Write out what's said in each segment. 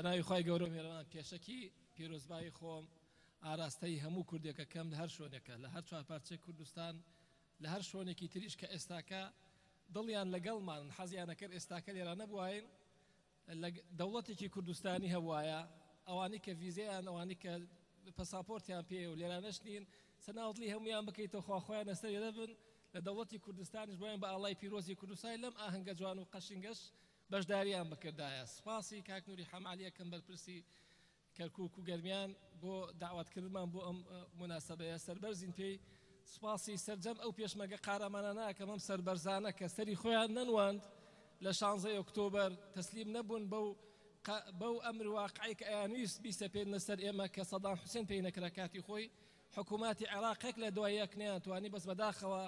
ناوی خوای گەورە و میهرەبان پێشەکی پیرۆزبایی خۆم ئاراستەی هەموو کوردێکەکەم لە هەر شۆنێکە لە هەر چوار پارچەی کوردستان لە هەر شۆنێکی تریش کە ئێستاکە دڵیان لەگەڵمانن حەزیانەکرد ئێستاکە لێرە نەبواین لە دەوڵەتێکی کوردستانی هەبوایە ئەوانەی کە ڤیزەیان ئەوانەی کە پەساپۆرتیان پێ و لێرانەش نین سەناوتلی هەمویان بکەیتەوە خوا خۆیان لەسەر دەبن لە دەوڵەتی کوردستانیش بۆیان بە ئاڵای پیرۆزی کوردستانی لەم ئاهەنگە جوان و قەشنگەش بەشداریان بکردایە. سپاسی کاک نوری حەمەعەلی ئەکەم بەرپرسی کەرکوک و گەرمیان بۆ دەعوەتکردنمان بۆ ئەم موناسەبەیە سەربەرزین پێی. سپاسی سەرجەم ئەو پێشمەرگە قارەمانانە ئەکەم ئەم سەربەرزانە کە سەری خۆیان نەنواند لە شانزەی ئۆکتۆبەر تەسلیم نەبوون بەو بەو ئەمر واقعەی کە ئەیانویست بیسەپێننە سەر ئێمە کە سەدام حوسێن پێی نەکرا کاتی خۆی حکوماتی عێراق یەک لە دوای یەک نەیانتوانی بەس بەداخەوە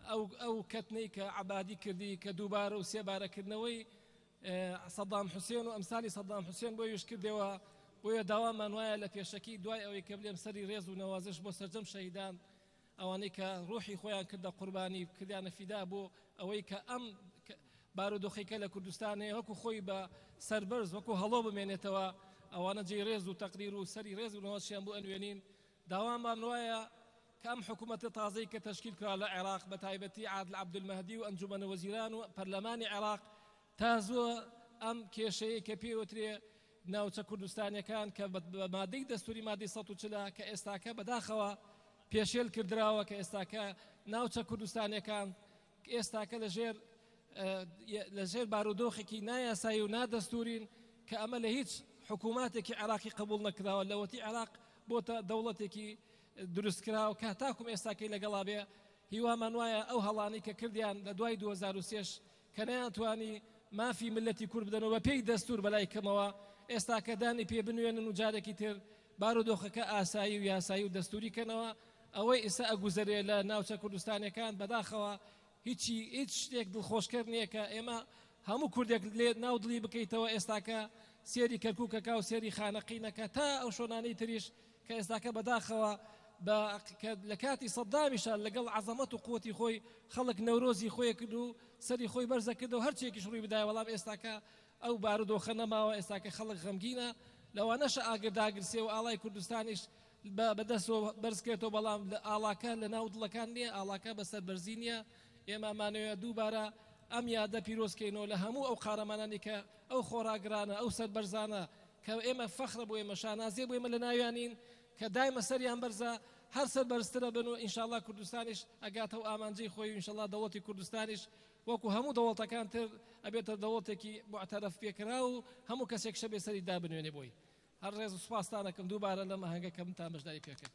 ئەو ئەو کەتنەی کە عەبادی کردی کە دووبارە و سێبارە کردنەوەی سەدام حوسێن و ئەمسالی سەدام حوسێن بۆ یش کردەوە. بۆیە داوامان وایە لە پێشەکی دوای ئەوەی کە بلێم سەری ڕێز و نەوازش بۆ سەرجەم شەهیدان ئەوانەی کە ڕوحی خۆیان کردە قوربانی کردیانە فیدا بۆ ئەوەی کە ئەم بارودۆخێکە لە کوردستان هەیە وەکو خۆی بە سەربەرز وەکو هەڵۆ بمێنێتەوە، ئەوانە جێی ڕێز و تەقدیر و سەری ڕێز و نەوازشیان بۆ ئەنوێنین. داوامان وایە کە ئەم حکوومەتە تازەی کە تەشکیل کرا لە عێراق بە تایبەتی عادل عەبدولمەهدی و ئەنجومەنە وەزیران و پەرلەمانی عێراق تا زووە ئەم کێشەیەی کە پێی وترێ ناوچە کوردستانیەکان کە بە مادەی دەستوری مادەی 140 کە ئێستاکە بەداخەوە پێشێل کردراوە کە ئێستاکە ناوچە کوردستانیەکان ئێستاکە لەژێر لەژێر بارودۆخێکی نایاسایی و نادەستورین کە ئەمە لە هیچ حکووماتێکی عێراقی قبول نەکراوە لەوەتی عێراق بۆتە دەوڵەتێکی دروستکراوە کە تاکوم ئێستاکەی لەگەڵا بێ. هیوامان وایە ئەو هەڵانەی کە کردیان لە دوای 2003 کە نەیانتوانی مافی ملەتی کورد بدەنەوە بە پێی دەستور بەلای کەمەوە ئێستاکە دانی پێ بنوێنن و جارێکی تر بارودۆخەکە ئاسایی و یاسایی و دەستوری کەنەوە. ئەوەی ئیستا ئەگوزەرێ لە ناوچە کوردستانیەکان بەداخەوە هیچی هیچ شتێک دڵخۆشکەر نییە کە ئێمە هەموو کوردێک لێ ناو دڵی بکەیتەوە ئێستاکە سێری کەرکوکەکە و سێری خانەقینەکە تا ئەو شۆنانەی تریش کە ئێستاکە بەداخەوە بە کە لە کاتی سەدامیشا لەگەڵ عەزەمەت و قوتی خۆی خەڵک نەورۆزی خۆی کرد و سەری خۆی بەرزە کردەوە هەرچیەکیش ڕووی بدایە، بەڵام ئێستاکە ئەو بارودۆخە نەماوە. ئێستاکە خەڵک غەمگینە، لەوانەشە ئاگر داگرسێ و ئاڵای کوردستانیش بە بەدەستەوە بەرزکرێتەوە، بەڵام لە ئاڵاکە لە ناو دڵەکان نییە، ئاڵاکە بە سەربەرزی نییە. ئێمە ئەمانەوێ دووبارە ئەم یادە پیرۆزکەینەوە لە هەموو ئەو قارەمانانی کە ئەو خۆڕاگرانە ئەو سەربەرزانە کە ئێمە فەخرە بۆ ئێمە شانازیە بۆ ئێمە لە ناویانین کە دایمە سەریان بەرزە هەر سەربەرزترە بن و ئینشاڵڵا کوردستانیش ئەگاتەوە ئامانجەی خۆی و ئینشاڵڵا دەوڵەتی کوردستانیش وەکو هەموو دەوڵەتەکان تر ئەبێتە دەوڵەتێکی موعتەرەف پێکراو و هەموو کەسێک شەبێ سەری دابنوێنێ بۆی. هەر ڕێز و سوپاستان ئەکەم دووبارە لەم ئاهەنگە کە منتان بەشداری پێکرد.